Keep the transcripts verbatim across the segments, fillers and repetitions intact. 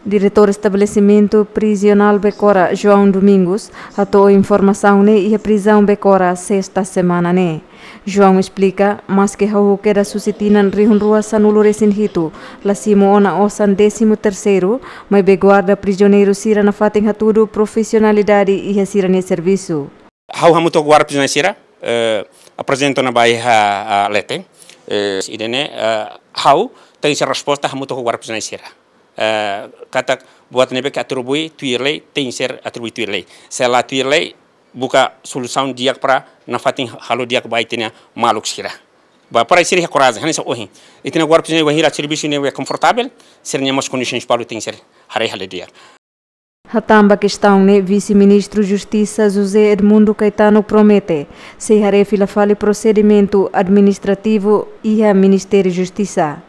Diretór Estabelesimentu Prizionál Becora, João Domingos, hato'o informasaun ne'e iha prizaun Becora, sesta semana ne'e. João esplika, maske hahú kedas husi tinan rihun rua sanulu resin hitu, la simu ona osan désimu terseiru, maibé guarda prizioneiru sira nafatin hatudu profisionalidade iha sira-nia servisu. Ha'u hamutuk ho guarda prizioneiru sira, eh, aprezenta ona ba iha, ah, leten. Eh, ida-ne'e, eh, ha'u tenke ser resposta hamutuk ho guarda prizioneiru sira. Eh, katak buat ne'ebé ke atribui tuir lei, tenke ser atribui tuir lei. Se la tuir lei, buka solusaun di'ak para nafatin halo di'ak ba ita-nia maluk sira. Ba para sira iha korajen, hanesan ohin. Ita-nia guarda prizioneiru bainhira servisu ne'e konfortavel, sira-nia mós kondisoens balu tenke ser haree halo di'ak. Hatán ba kestaun ne'e, Vise-Ministru Justisa José Edmundo Caetano promete sei haree fila fali prosedimentu administrativu iha Ministériu Justisa.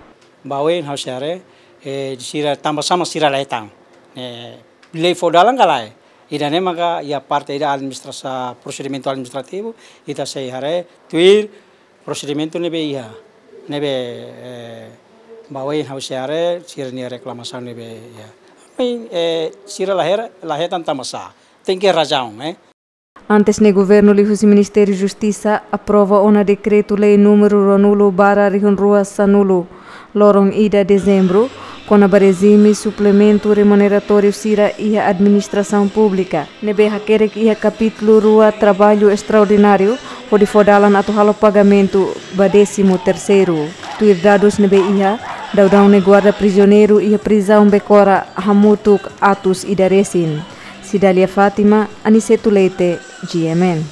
Ba oin ha'u sei haree, eh, sira tanba sá mak sira la hetan. Eh, lei fó dalan ka lae. Ida-ne'e maka iha parte ida administrasa-, prosedimentu administrativu, ita sei haree tuir prosedimentu ne'ebé iha, ne'ebé, eh, ba oin ha'u sei haree sira-nia reklamasaun ne'ebé iha. Maibé, eh, sira la hera-, la hetan tanba sá. Tenke razaun, eh. Antes ne'e, governu liuhusi Ministériu Justisa aprova ona dekretu-lei númeru ruanulu barra rihun rua sanulu, loron ida Dezembru, kona-ba rejime suplementu remuneratóriu sira iha administrasaun públika, ne'ebé hakerek iha kapítulu rua traballu estraordináriu, hodi fó dalan atu halo pagamentu ba désimu terseiru. Tuir dadus ne'ebé iha, daudaun ne'e guarda prizioneiru iha prizaun Becora hamutuk atus ida resin. Cidália Fátima, Aniceto Leite, G M N.